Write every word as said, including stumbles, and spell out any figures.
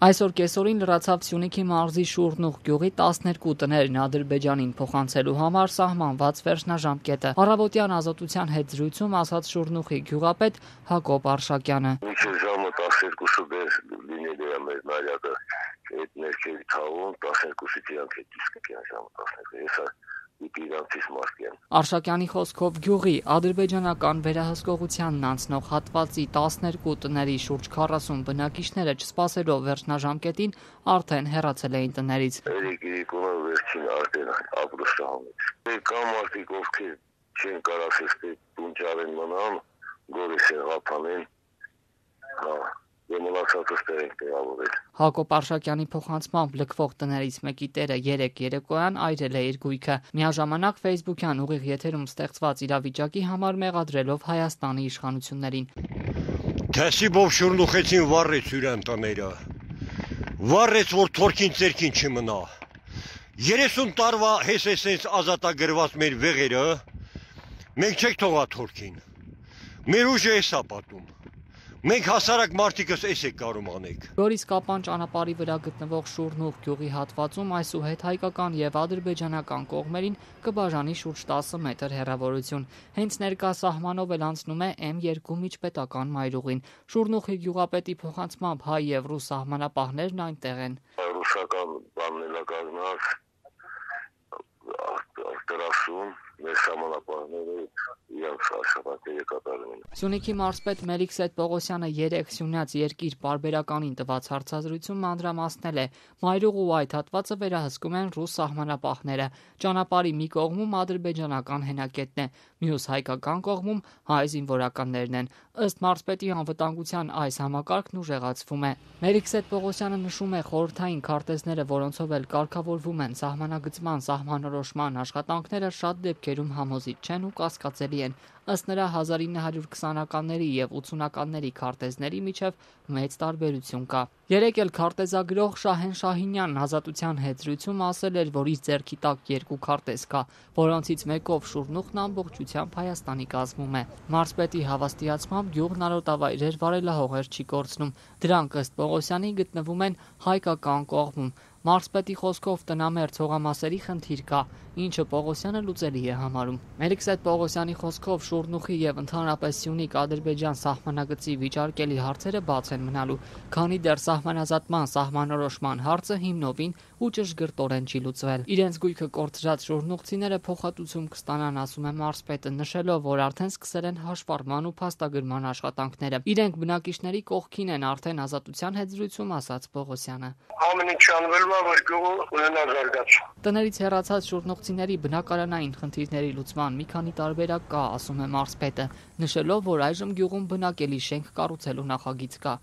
Այսօր կեսօրին լրացավ Սյունիքի մարզի Շուռնուղ գյուղի տասներկու տներն Ադրբեջանին փոխանցելու համար սահմանված վերջնաժամկետը։ Առավոտյան Ազատության հետ զրույցում ասաց Շուռնուղի գյուղապետ Հակոբ Արշակյանը։ Մինչև ժամը տասներկուսը դեր լինել է մեր նարյակը այդ ներքևի թաղում, տասներկուսից իրանք հետ իսկ կյան ժամը տասներկու։ Եսա Արշակյանի խոսքով գյուղի ադրբեջանական վերահսկողությանն անցնող հատվածի տասներկու տների շուրջ քառասուն բնակիչները չսպասելով վերջնաժամկետին արդեն հեռացել էին տներից։ վերջին արդեն ապրուստահանից։ Կան մարդիկ, ովքեր չեն կարասես տունջարեն մնան, գորես եղապանեն, Հակոբ Արշակյանի փոխանցմամբ լքվող տներից մեկի տերը երեկ երեկոյան այրել է իր գույքը։ Միաժամանակ Facebook-յան ուղիղ եթերում ստեղծված իրավիճակի համար մեղադրելով Հայաստանի իշխանություններին։ Թեսիբով շուրնուխեցին վառեց յուրան տները։ Վառեց, որ թորքին ծերքին չմնա։ երեսուն տարվա հեսեսենց ազատագրված մեր վեղերը, մենք չեք թողա թորքին։ Մեր ուժը էս է պատում։ Մենք հասարակ մարդիկս էս եք կարում անեք։ Գորիս-Կապան ճանապարհի վրա գտնվող Շուռնուղ գյուղի հատվածում այսուհետ հայկական եւ ադրբեջանական կողմերին կբաժանի շուրջ տասը մետր հեռավորություն։ Հենց ներկա սահմանով էլ անցնում է էմ երկու միջպետական մայրուղին։ Շուռնուղի գյուղապետի փոխանցմամբ հայ եւ ռուս սահմանապահներն այնտեղ են։ Ռուսական բաննելակազմած արտերասում մեր սահմանապահները Սյունիքի մարզպետ Մելիքսեթ Պողոսյանը երեկ Սյունյաց երկիր պարբերականին տված հարցազրույցում մանրամասնել է, մայրուղ ու այդ հատվածը վերահսկում են ռուս սահմանապահները։ Ճանապարհի մի կողմում ադրբեջանական հենակետն է, մյուս հայկական կողմում հայ զինվորականներն են։ Ըստ մարզպետի անվտանգության այս համակարգն ուժեղացվում է։ Մելիքսեթ Պողոսյանը նշում է խորհրդային քարտեզները, որոնցով էլ կարգավորվում են սահմանագծման, սահմանորոշման աշխատանքները շատ դեպքերում համոզիչ չեն ու կասկածելի են։ Ըստ նրա հազար ինը հարյուր քսանականների եւ ութսունականների քարտեզների միջև մեծ տարբերություն կա։ Երեկ էլ քարտեզագրող Շահեն Շահինյանն Ազատության հետ զրույցում ասել էր, որ իր ձեռքի տակ երկու քարտեզ կա, որոնցից մեկով Շուռնուղն ամբողջությամբ Հայաստանի կազմում է։ Մարզպետի հավաստիացմամբ գյուղն արոտավայրեր վարելահողեր չի կորցնում։ Դրանք ըստ Պողոսյանի գտնվում են հայկական կողմում։ Մարզպետի խոսքով տնամերձ հողամասերի խնդիր կա, ինչը Պողոսյանը լուծելի է համարում։ Մելիքսեթ Պողոսյանի խոսքով Շուռնուղի եւ ընդհանրապես Սյունիք-Ադրբեջան սահմանագծի վիճարկելի հարցերը բաց են մնալու, քանի դեռ սահմանազատման սահմանորոշման հարցը հիմնովին ու ճշգրտորեն չի լուծվել։ Իրենց գույքը կորցրած շուռնուղցիները փոխհատուցում կստանան, ասում է մարզպետը, նշելով, որ արդեն սկսել են հաշվառման ու փաստագրման աշխատանքները։ Իրենք բնակիչների կողքին են արդեն Ազատության հետ զրույցում ասաց Պողոսյանը։ Ամեն ինչ անվելու է, որ գյուղը ունենա զարգացում։ Տներից հեռացած շուռնուղցիների բնակարանային խնդիրների լուծման մի քանի տարբերակ կա, ասում է մարզպետը, նշելով, որ այժմ գյուղում բնակելի շենք կառուցելու նախագիծ կա։